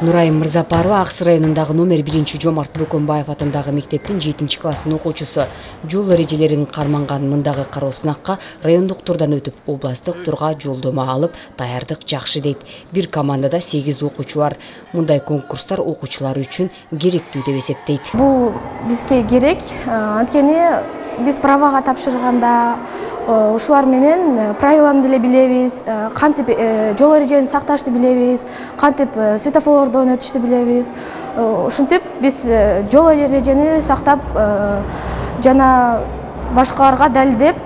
Нурайым Мырзапарова Ак Сый районундагы номер 1 Жомарт Бөкөнбаев атындагы мектептин 7-класстын окуучусу. Жол эрежелерин карманган мындагы кароо сынакка райондук турдан өтүп, областык турга жолдомо алып, даярдык жакшы дейт. Бир командада 8 окуучу бар. Мындай конкурстар окуучулар үчүн керектүү деп эсептейт. Бул бизге керек, анткени биз правага тапшырганда ушулар менен правиланы деле билебиз, кантип жол эрежелерин сакташты билебиз, кантип светофорлордон өтүштү билебиз. Ушинтип биз жол эрежени сактап жана башкаларга далилдеп,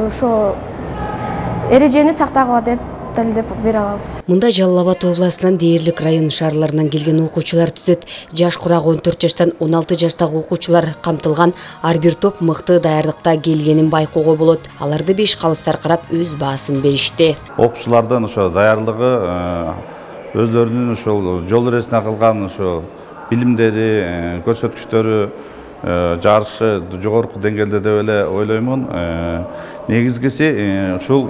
ошо эрежени сактагыла деп далилдеп бере алабыз. Мында Жалал Абад областынан дээрлик район шаарларынан келген окуучулар түзөт. Жаш курагы 14 жаштан 16 жаштагы окуучулар камтылган. Ар бир топ мыкты даярдыкта келгенин байкоого болот. Аларды 5 калыстар карап өз баасын беришти. Окуучулардын ошо даярдыгы, өздөрүнүн ошол жол эрежесине кылган ошо билимдери, көрсөткүчтөрү жакшы, жогорку деңгээлде деп эле ойлоймун. Негизгиси ушул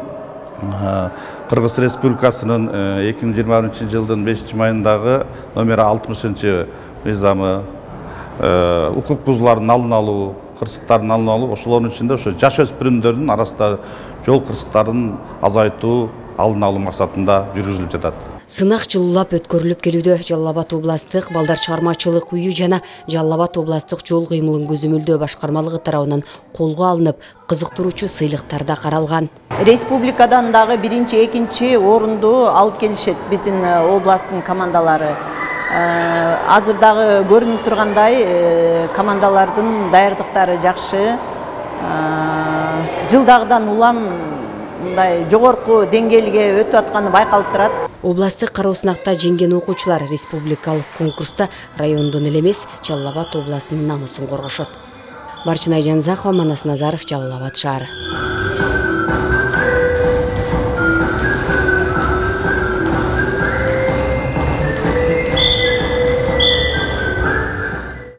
Кыргыз Республикасынын 2021 жылдын 5-майындагы номер 60 мыйзамы укук бузуулардын алдын алуу, кырсыктардын алдын алуу, ошолордун ичинде ошо жаш өспүрүмдөрдүн арасында жол кырсыктарын азайтуу, алдын алуу максатында жүргүзүлүп жатат. Сынак жылуулап өткөрүлүп келүүдө. Жалал Абад областык балдар чыгармачылык үйү жана Жалал Абад областык жол кыймылын көзөмөлдөө башкармалыгы тарабынан колго алынып, кызыктыруучу сыйлыктар да каралган. Республикадан дагы 1-2 орунду алып келишет биздин областтын командалары. Азыр дагы көрүнүп тургандай командалардын даярдыктары жакшы. Жылдагыдан улам мындай жогорку деңгээлге өтүп атканы байкалып турат. Областык кароо сынакта жеңген окуучулар республикалык конкурста райондон эле эмес, Жалал Абад областынын намысын коргошот. Барчынай Жанзакова, Манас Назаров, Жалал Абад шаары.